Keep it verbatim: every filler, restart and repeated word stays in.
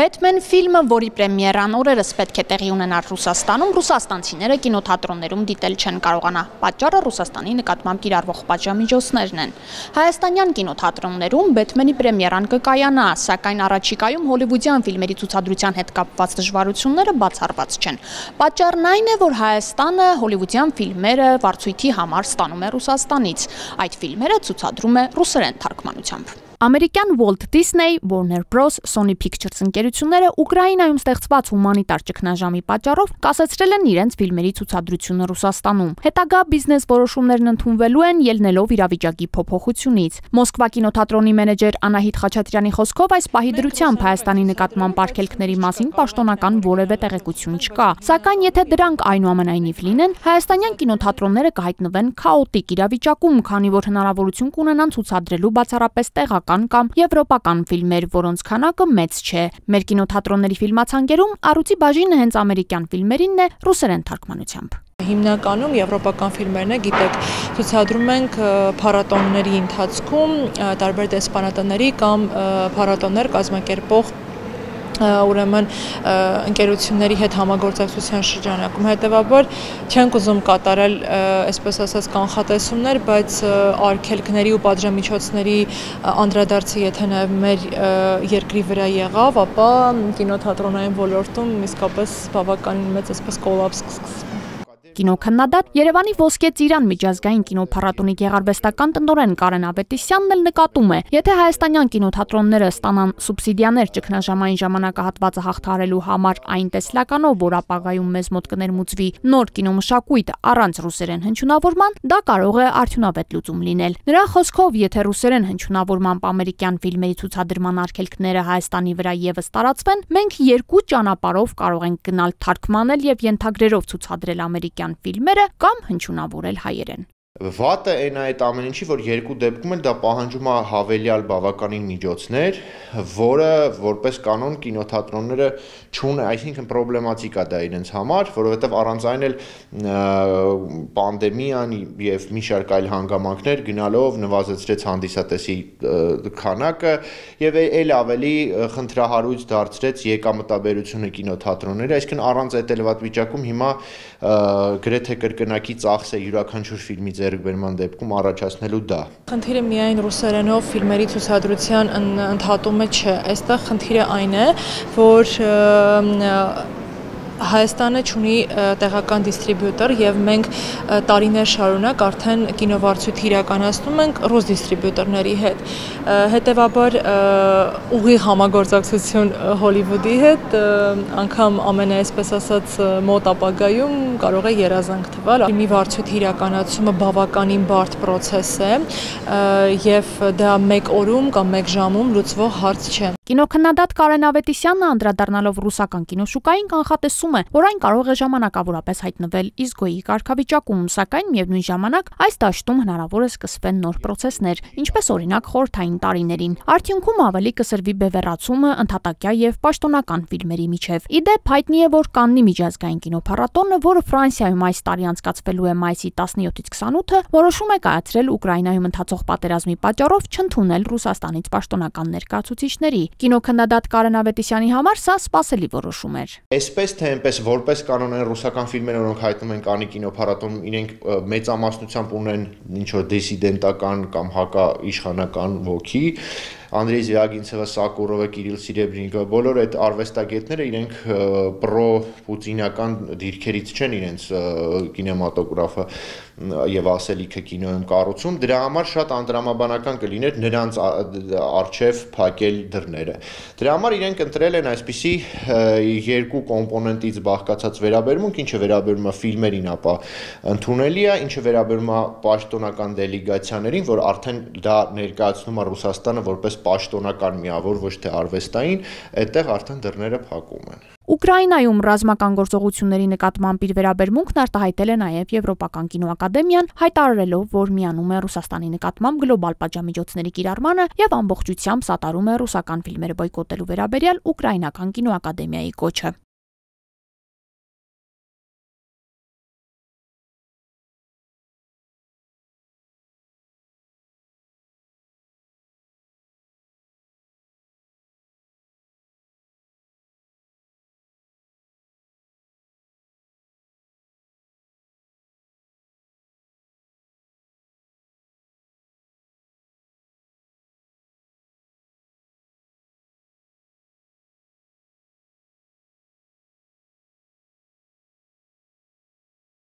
Բեթմեն ֆիլմը, որի պրեմիերան օրերս պետք է տեղի ունենար Ռուսաստանում, ռուսաստանցիները կինոթատրոններում դիտել չեն կարողանա։ Պատճառը Ռուսաստանի նկատմամբ կիրառվող պատժամիջոցներն են։ Հայաստանյան կինոթատրոններում Բեթմենի պրեմիերան կկայանա, սակայն առաջիկայում հոլիվուդյան ֆիլմերի ցուցադրության հետ կապված դժվարությունները բացառված չեն։ Պատճառն այն է, որ Հայաստանը հոլիվուդյան ֆիլմերը վարձույթի համար ստանում է Ռուսաստանից։ Այդ ֆիլմերը ցուցադրում է ռուսերեն թարգմանությամբ։ Ամերիկյան Walt Disney, Warner Bros, Sony Pictures ընկերությունները Ուկրաինայում ստեղծված հումանիտար ճգնաժամի պատճառով կասեցրել են իրենց ֆիլմերի ցուցադրությունը Ռուսաստանում։ Հետագա բիզնես որոշումներն ընդունվելու են ելնելով իրավիճակի փոփոխությունից։ Մոսկվա կինոթատրոնի մենեջեր Անահիտ Խաչատրյանի խոսքով այս պահի դրությամբ Հայաստանի նկատմամբ արգելքների մասին պաշտոնական որևէ տեղեկություն չկա։ Սակայն եթե դրանք այնուամենայնիվ լինեն, հայաստանյան կինոթատրոնները կհայտնվեն քաոտիկ իրավիճակում, քանի որ հնարավորություն կունենան ցուցադրելու բացառապես տեղական կամ եվրոպական ֆիլմեր, որոնց քանակը մեծ չէ։ Մեր կինոթատրոնների ֆիլմացանկերում առուտի բաժինը հենց ամերիկյան ֆիլմերինն է ռուսերեն թարգմանությամբ։ Հիմնականում եվրոպական ֆիլմերն է, գիտեք, ցուցադրում ենք փառատոների ընթացքում տարբեր դեսպանատների կամ փառատոներ կազմակերպող ուրեմն ընկերությունների հետ համագործակցության շրջանակում, հետևաբար չենք ուզում կատարել, այսպես ասած, կանխատեսումներ, բայց արգելքների ու պատժամիջոցների անդրադարձը եթե նաև մեր երկրի վրա եղավ, ապա կինոթատրոնային ոլորտում իսկապես բավականին մեծ այսպես կոլապս կսկսվի։ Կինոքննադատ Երևանի Ոսկե Ծիրան միջազգային կինոփառատոնի գեղարվեստական տնօրեն Կարեն Ավետիսյանն էլ նկատում է, եթե հայաստանյան կինոթատրոնները ստանան սուբսիդիաներ ճգնաժամային ժամանակահատվածը հաղթահարելու համար այն տեսլականով, որ ապագայում մեզ մոտ կներմուծվի նոր կինոմշակույթ առանց ռուսերեն հնչյունավորման, դա կարող է արդյունավետ լուծում լինել։ Նրա խոսքով, եթե ռուսերեն հնչյունավորմամբ ամերիկյան ֆիլմերի ցուցադրման արգելքները Հայաստանի վրա եւս տարածվեն, մենք երկու ճանապարհով կարող ենք գնալ թարգմանել եւ ենթագրերով ցուցադրել ամերիկյան ֆիլմերը կամ հնչյունավորել հայերեն։ Վատը այն է այդ ամեն ինչի, որ երկու դեպքում էլ դա պահանջում է հավելյալ բավականին միջոցներ, որը որպես կանոն կինոթատրոնները չունեն, այսինքն պրոբլեմատիկ է դա իրենց համար, որովհետև առանց այն էլ պանդեմիան եւ մի շարք այլ հանգամանքներ գնալով նվազեցրեց հանդիսատեսի քանակը եւ այլ ավելի խնդրահարույց դարձրեց եկամտաբերությունը կինոթատրոնների, այսինքն առանց այդ ելված վիճակում հիմա գրեթե կրկնակի ծախս է յուրաքանչյուր ֆիլմի ձեռքբերման դեպքում առաջացնելու դա։ Խնդիրը միայն ռուսերենով ֆիլմերի ցուցադրության ընդհատումը չէ, այստեղ խնդիրը այն է, որ Հայաստանը ունի տեղական դիստրիբյուտոր եւ մենք տարիներ շարունակ արդեն կինովարձույթ իրականացնում ենք ռուս դիստրիբյուտորների հետ։ Հետևաբար ուղիղ համագործակցություն Հոլիվուդի հետ անգամ ամենաայսպես ասած մոտ ապագայում կարող է երազանք թվալ։ Մի վարձույթ իրականացումը բավականին բարդ process է եւ դա մեկ օրում կամ մեկ ժամում լուծվող հարց չէ։ Կինոքննադատ Կարեն Ավետիսյանը անդրադառնալով ռուսական կինոշուկային կանխատեսում է, որ այն կարող է ժամանակավորապես հայտնվել իզգոյի կարգավիճակում, սակայն միևնույն ժամանակ այս դաշտում հնարավոր է սկսվեն նոր պրոցեսներ, ինչպես օրինակ խորհրդային տարիներին։ Արդյունքում ավելի կսրվի բևեռացումը ընդհատակյա եւ պաշտոնական ֆիլմերի միջև։ Ի դեպ հայտնի է, որ Կաննի միջազգային կինոփառատոնը, որը Ֆրանսիայում այս տարի անցկացվելու է մայիսի տասնյոթից քսանութը, որոշում է կայացրել Ուկրաինայում ընթացող պատերազմի պատճառով չընդունել Ռուսաստանից պաշտոնական ներկայացուցիչների։ Կինոքննադատ Կարեն Ավետիսյանի համար սա սպասելի որոշում էր։ Այսպես թե այնպես որպես կանոն են ռուսական ֆիլմերը, որոնք հայտնվում են Կաննի կինոփառատոնում, իրենք մեծամասնությամբ ունեն ինչ որ դիսիդենտական կամ հակաիշխանական ոգի։ Անդրեյ Զվիագինցևը, Սակուրովը, Կիրիլ Սիրեբրինկը, բոլոր այդ արվեստագետները իրենք պրո-պուտինական դիրքերից չեն իրենց կինեմատոգրաֆը եւ ասելիքը կինոյում կառուցում, դրա համար շատ անդրամաբանական կլիներ նրանց արչեւ փակել դռները։ Դրա համար իրենք ընտրել են այսպիսի երկու կոմպոնենտից բաղկացած վերաբերմունք, ինչը վերաբերում է ֆիլմերին, ապա ընդունելի է, ինչը վերաբերում է պաշտոնական դելեգացիաներին, որ արդեն դա ներկայացնում է Ռուսաստանը որպես պաշտոնական միավոր, ոչ թե արվեստային, այդտեղ արդեն դռները փակում են։ Ուկրաինայում ռազմական գործողությունների նկատմամբ իր վերաբերմունքն արտահայտել է նաև Եվրոպական կինոակադեմիան, հայտարարելով, որ միանում է Ռուսաստանի նկատմամբ գլոբալ պատժամիջոցների կիրառմանը եւ ամբողջությամբ սատարում է ռուսական ֆիլմերը բոյկոտելու վերաբերյալ Ուկրաինական կինոակադեմիայի կոչը։